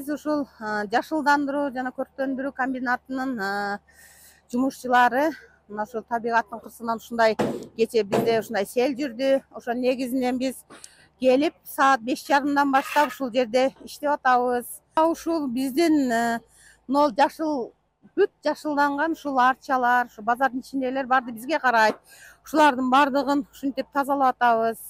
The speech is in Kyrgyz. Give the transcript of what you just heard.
биз ушул жашылдандыруу жана көрктөндүрүү комбинатынын жумушчулары мына ушул табигаттын кырсыгынан ушундай кечээ бизде ушундай сел жүрдү. Ошо негизинен биз келип саат 5:30 баштап ушул жерде иштеп атабыз. Ушул биздин могул жашыл бүт жашылданган ушул арчалар, ушу базардын ичиндегилер баары бизге карайт. Ушулардын баардыгын ушинтип тазалап атабыз.